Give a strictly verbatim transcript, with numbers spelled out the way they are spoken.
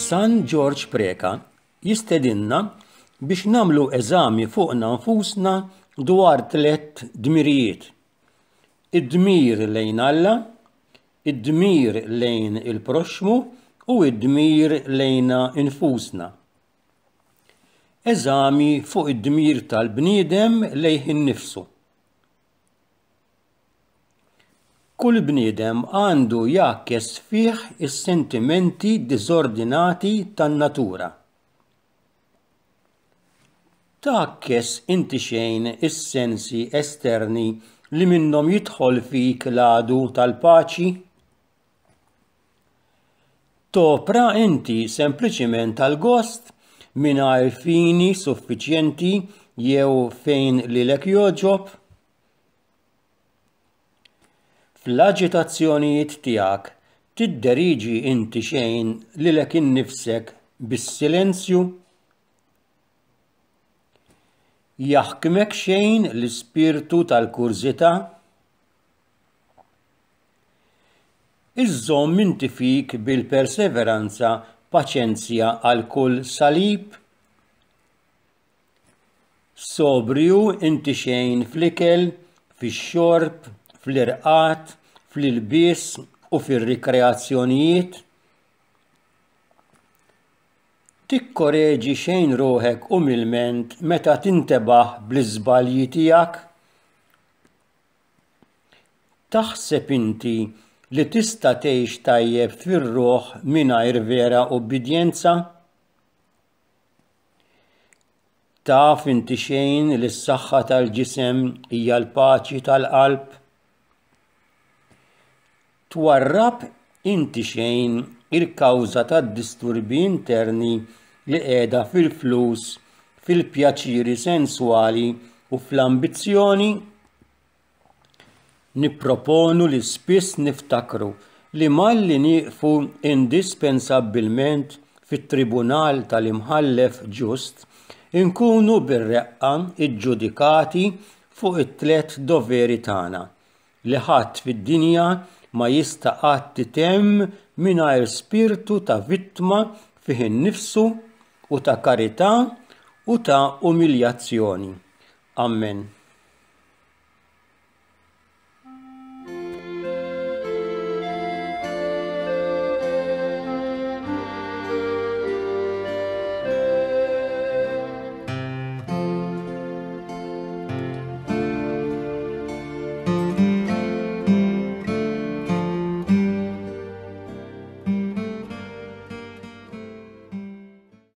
San Ġorġ Preca jistedinna biex nagħmlu eżami fuqna nfusna dwar tliet dmirijiet. Id-dmir lejn Alla, id-dmir lejn il-proxxmu u id-dmir lejna infusna. Eżami fuq id-dmir tal-bniedem lejh innifsu. Kull bniedem għandu jgħakkes fih is-sentimenti diżordinati tan-natura. Tgħakkes inti xejn is-sensi esterni li minnhom jidħol fik l-għadu tal-paċi? Topra inti sempliċiment għall-gost mingħajr fini suffiċjenti jew fejn lilek jogħġob? Fl-aġitazzjonijiet tiegħek tidderiġi inti xejn lilek innifsek bis-silenzju? Jaħkmek xejn l-ispirtu tal-kurżità? Iżżomm inti fik bil-perseveranza paċenzja għal kull salib? Sobrju inti xejn fl-ikel, fix-xorb, fl-irqad, fl-ilbies u fir-rikreazzjonijiet? Tikkoreġi xejn ruħek umilment meta tintebaħ bl-iżbalji tiegħek? Taħseb inti li tista' tgħix tajjeb fir-ruħ mingħajr vera ubbidjenza? Taf inti xejn li s-saħħa tal-ġisem hija l-paċi tal-qalb? Twarrab inti xejn il-kawża tad-disturbi interni li qiegħda fil-flus, fil-pjaċiri senswali u fl-ambizzjoni? Nipproponu li spiss niftakru li malli nieqfu indispensabbilment fit-tribunal tal-imħallef ġust, inkunu bir-reqqa iġġudikati fuq it-tliet doveri tagħna, li ħadd fid-dinja ma jista' qatt itemm mingħajr spirtu ta' vittma fih innifsu u ta' karità u ta' umiljazzjoni. Amen.